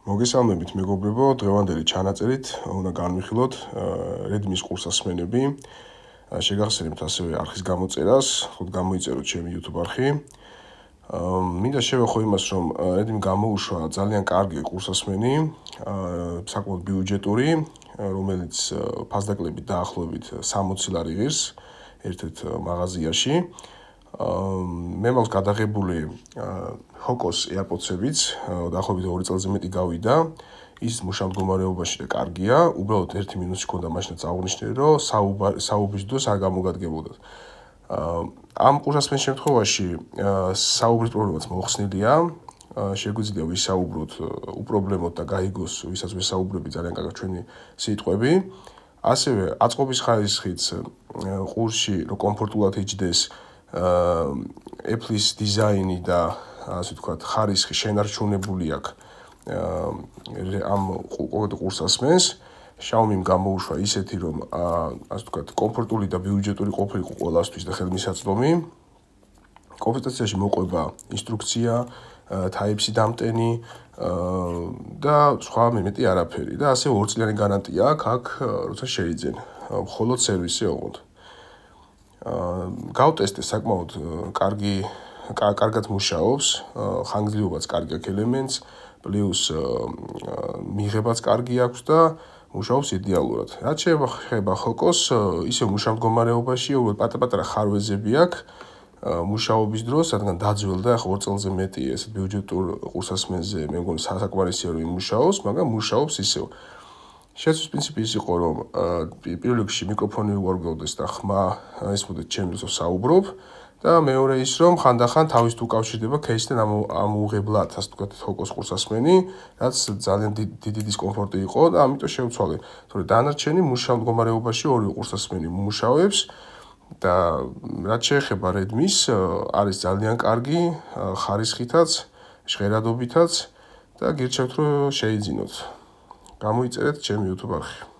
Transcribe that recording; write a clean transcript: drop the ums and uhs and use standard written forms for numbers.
მოგესალმებით მეგობრებო, დღევანდელი ჩანაწერით უნდა განვიხილოთ Redmi-ის ყურსასმენები. შეგახსენებთ ასევე არხის გამოწერას, ხოთ გამოიწეროთ ჩემი YouTube არხი. მინდა შევეხო იმას, რომ Redmi გამოუშვა ძალიან კარგი ყურსასმენი, საკმაოდ ბიუჯეტური, რომელიც ფასდაკლებით დაახლოებით 60 ლარი ღირს ერთ-ერთ მაღაზიაში. მე მაქვს გადაღებული Hokos AirPods-ებიც, დაახლოებით 2 წელზე მეტი გავიდა. ის მუშა მდგომარეობაში და კარგია. უბრალოდ ერთი მინუსი ჰქონდა, მაშინაც აღნიშნე, რომ საუბრის დროს არ გამოგადგებოდათ. ამ ყურსასმენის შემთხვევაში საუბრის პრობლემაც მოხსნილია. შეგვიძლია ვისაუბროთ უპრობლემოდ და გაიგოს, ვისაც ვისაუბრები ძალიან კარგად ჩვენი სიტყვები. ასევე აწყობის ხარისხიც ყურსში რო კომფორტულად იჯდეს, Apple-ის დიზაინი და ასე ვთქვათ, ხარისხი შენარჩუნებული აქვს ამ ყურსასმენს. Xiaomi-მ გამოუშვა ისეთი, რომ ასე ვთქვათ, კომფორტული და ბიუჯეტური ყოფილიყო ყველასთვის და ხელმისაწვდომი. კომპლექტაციაში მოყვება ინსტრუქცია, Type-C დამტენი და სხვა მეტი არაფერი. და ასევე 2 წლიანი გარანტია აქვს, როცა შეიძენ. მხოლოდ სერვისი ოღონდ. გავტესტე საკმაოდ კარგად მუშაობს, ხანგრძლივობაც კარგი აქვს ელემენტს, პლუს მიღებაც კარგი აქვს და მუშაობს იდეალურად. რაც შეეხება Hokos, ისე მუშა მდგომარეობაში, პატარ-პატარა ხარვეზები აქვს მუშაობის დროს, რადგან დაძველდა, ახლა 2 წელზე მეტი ესეთ ბიუჯეტურ ყურსასმენზე, მე მგონი საკმარისია რომ იმუშაოს, მაგრამ მუშაობს ისევ. შეცვლის პრინციპი ის იყო, რომ პირველ რიგში მიკროფონი უარგავდეს და ხმა ესმოდეთ ჩემს დროს საუბრობ და მეორე ის, რომ ხანდახან თავისთ უკავშირდება case-თან ამოუღებლად, ასე ვთქვათ, Hokos ყურსასმენი, რაც ძალიან დიდი დისკომფორტი იყო და ამიტომ შევცვალე. თორე დანარჩენი მუშა მდგომარეობაში ორივე ყურსასმენი მუშაობს და რაც შეეხება Redmi-ს, არის ძალიან კარგი ხარისხითაც, ჟღერადობითაც და გირჩევთ რომ შეიძინოთ. გამოიწერეთ ჩემი YouTube არხი.